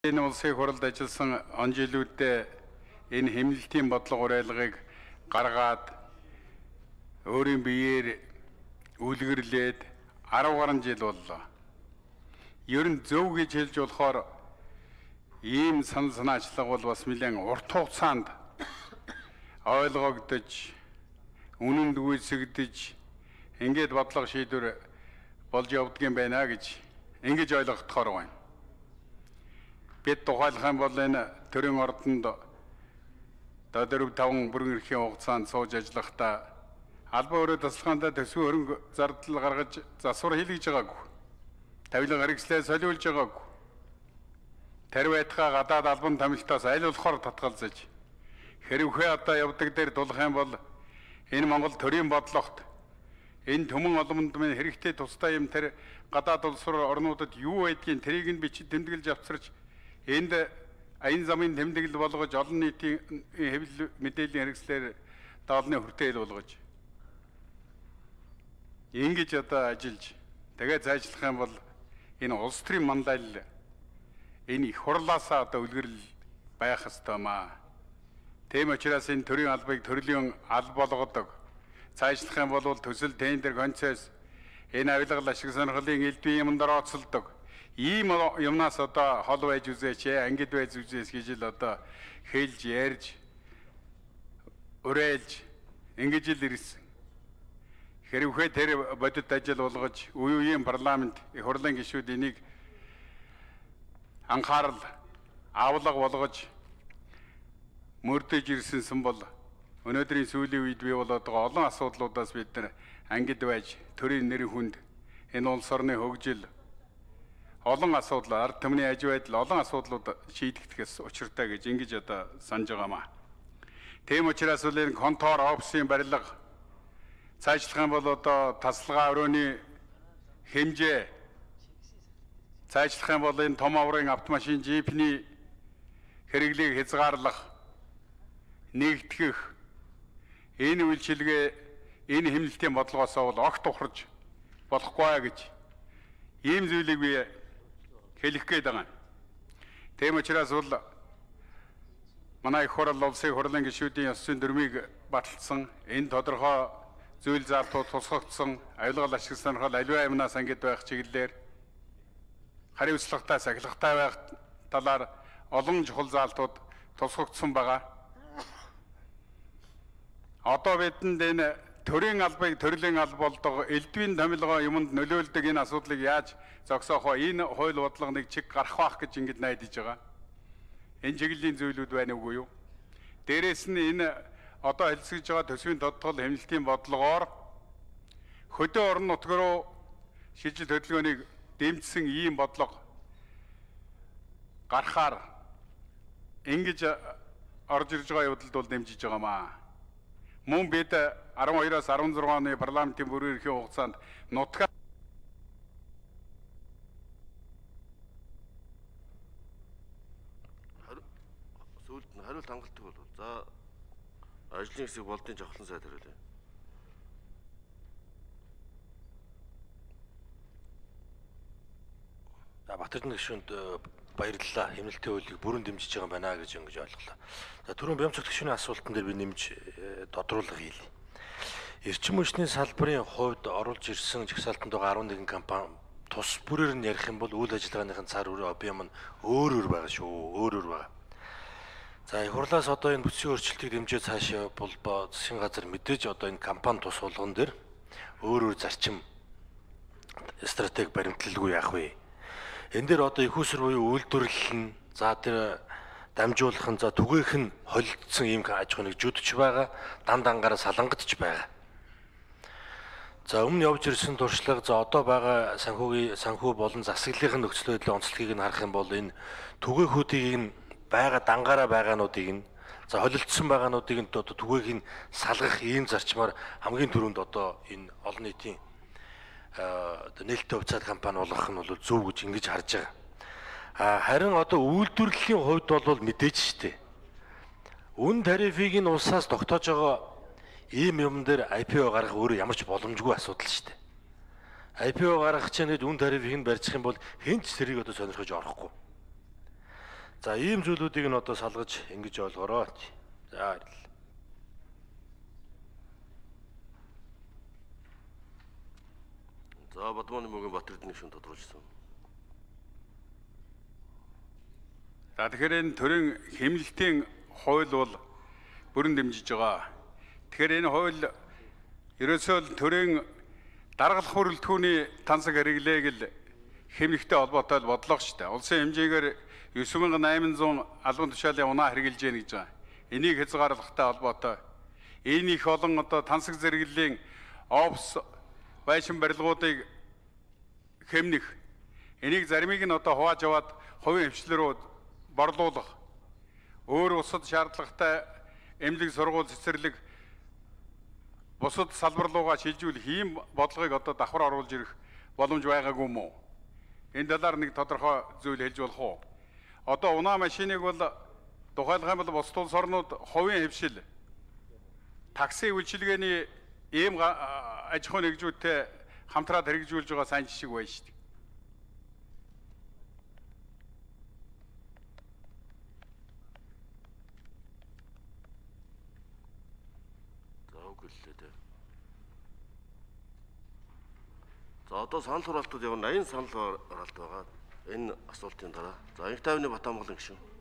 Энэ улсын хурлд ажилласан он жилүүдэд энэ хэмнэлтийн бодлого уриалгыг гаргаад өөрийн биеэр үлгэрлээд 10 гаруй жил боллоо. Ер нь зөв гэж хэлж болохоор ийм санал санаачлага бол бас нэлээд урт хугацаанд ойлгогдож, үнэнд гүйцэгдэж, ингээд бодлого шийдвэр болж явдгийн байна гэж ингэж ойлгохдохоор байна. Бид тухайлах юм бол энэ төрийн ордонд 4-5 бүрэн эрхийн хугацаанд сууж ажиллахдаа албан өрөө тасалгаандаа төсвийн хөрөнгө зардал гаргаж засвар хийлгэж байгаагүй. Тавилга хэрэгслээ солиулж байгаагүй. Тарвайтгаа гадаад албан томилтоос аль болохоор татгалзаж хэрвээ одоо явдаг дээр тулах юм бол энэ Монгол төрийн бодлогот энэ төмөн оломонд минь хэрэгтэй тусдаа юм тэр гадаад улс орнуудад юу байдгийг тэрийг нь бичиж тэмдэглэж авчирч энд аян замын тэмдэглэл болгож олон нийтийн хэвлэл мэдээллийн хэрэгслээр даалны хүртээл болгож ингэж одоо ажиллаж тэгээ зайчлах юм бол энэ улс төрийн манлайл энэ их хурлаасаа одоо үлгэрэл байх ёстой маа. Тийм учраас энэ төрийн албыг төрлийн алба болгодог. Цаашлах юм бол төсөл тендер концесс энэ авилгал ашиг сонирхлын элдвийн юмд орооцолдог. Ийм юмнаас одоо хол байж үзээч, ангид байж үзээч гэж л одоо хэлж ярьж уриалж ингэж л ирсэн. Хэрвээ тэр бодит ажил болгож үеийн парламент их хурлын гишүүд энийг анхаарал авлага болгож мөрдөж ирсэнсэн бол өнөөдрийн сүүлийн үед бий болоод байгаа олон асуудлуудаас бид нар ангид байж төрийн нэр хүнд энэ улс орны хөгжил олон асуудал ард түмний аж байдал олон асуудлууд шийдэгдэхээс учиртай гэж ингэж одоо санаж байгаамаа. Тийм учраас энэ контор офисын барилга цаашлах юм бол одоо тасалгаа өрөөний хэмжээ цаашлах юм бол энэ том аврын автомашин жипний хэрэглийг хязгаарлах нэгтгэх энэ үйлчилгээ энэ хэмнэлтийн бодлогоос бол огт ухарж болохгүй гэж ийм зүйлийг би хэлэх гээд байгаа. Тийм учраас бол манай их хурл улсын хурлын гишүүдийн ёс зүйн дүрмийг баталсан энэ тодорхой зүйл заалтууд тусгагдсан авилгал ашиг сонирхол аливаа юмнаас ангид байх чиглэлээр хариуцлагатай сахилгатай байх талаар олон чухал заалтууд тусгагдсан байгаа. Одоо бидэнд энэ төрийн албыг төрлийн алба болдог элдвийн томилгоо юмд нөлөөлдөг энэ асуудлыг яаж зогсоох вэ? Энэ хууль бодлогыг чиг гарах байх гэж ингэж найдаж байгаа. Энэ чиглэлийн зүйлүүд байна уугүй юу? Дээрээс нь энэ одоо хэлцэж байгаа төсвийн тодтгол хэмнэлтийн бодлогоор хөдөө орон нутг руу шийдэл хөдөлгөөнийг дэмжсэн ийм бодлого гарахаар ингэж орж ирж байгаа явдалд бол дэмжиж байгаамаа. Мөн бид 12-аас 16 оны парламентын бүрэн эрхийн хугацаанд нутгаар сүүлд нь хариулт хангалттай болов. За ажлын хэсэг болдын жавхлан сайд хариулъя. За Батэрдэн гишүүнд баярлалаа. Хэмнэлтийн хуулийг бүрэн дэмжиж байгаа юм байна гэж ингэж ойлголоо. За түрүүн Бямцогт гишүүний асуултан дээр би нэмж тодруулга хийлье. Эрчим хүчний салбарын хувьд оруулж ирсэн жагсаалтанд байгаа 11 компани тус бүрээр нь ярих юм бол үйл ажиллагааныхын цар хүрээ объем нь өөр байгаа шүү. Өөр байгаа. За их хурлаас одоо энэ бүтцийн өөрчлөлтийг дэмжиж цаашаа болбоо засгийн газар мэдээж одоо энэ компани тус болгон дээр өөр зарчим стратеги баримтлалгүй яах вэ? Энэ дээр одоо их уср буюу үйлдвэрлэл нь за тэр дамжуулах нь за түгээх нь холилдсон ийм аж ахуйг жүдч байгаа, дан дангаараа салангадж байгаа. За өмнө явж ирсэн туршлага за одоо байгаа санхүү болон засаглалын нөхцөл байдлын онцлогийг нь харах юм бол энэ түгэөхүүдийг нь байгаа дангаараа байгаануудыг нь за холилдсон байгаануудыг нь одоо түгээх нь салгах ийм зарчмаар хамгийн түрүүнд одоо энэ олон нийтийн нээлттэй хувьцаат компани болгох нь бол зөв гэж ингэж харж байгаа. Харин одоо үйлдвэрлэлийн хувьд бол мэдээж штэ. Үн тарифыг нь улсаас тогтоож байгаа ийм юм дээр IPO гаргах өөрөө ямар ч боломжгүй асуудал штэ. IPO гаргах чинь үн тарифыг нь барьчих юм бол хэн ч тэрийг одоо сонирхож орохгүй. За ийм зүйлүүдийг нь одоо салгаж ингэж ойлгороо. За баярлалаа. За Бадманы мөгийн Батэрдний шин тодорхойлсон. За тэгэхээр энэ төрийн хэмнэлтийн хууль бол бүрэн дэмжиж байгаа. Тэгэхээр энэ хууль ерөөсөө л төрийн даргалах бүрэлдэхүүний тансаг хэрэглээг л хэмнэлттэй холбоотой бодлого шүү дээ. Улсын хэмжээгээр 9800 албан тушаалын унаа хэрэгжилж яах гэж байгаа. Энийг хязгаарлахтай холбоотой энэ их олон одоо тансаг зэрэглэлийн офс байшин барилгуудыг хэмнэх энийг заримыг нь одоо хувааж аваад хувийн хвшлэл рүү борлуулах өөр усад шаардлагатай эмнэлэг сургууль цэцэрлэг бусад салбар руугаа шилжүүлэх ийм бодлогыг одоо давхар оруулж ирэх боломж байгаагүй мó? Энэ талаар нэг тодорхой зүйл хэлж болох уу? Одоо унаа машиныг бол тухайлах юм бол бусад улс орнууд хувийн хвшил такси үйлчилгээний ийм аж ахуйн нэгжүүдтэй хамтраад хэрэгжүүлж байгаа сайн жишг байна шүү дээ. За үгүй л дээ. За одоо санал хураалтууд явна. 80 санал хураалт байгаа. Энэ асуултын дараа. За Инх тайвны Батамгалан гишүүн.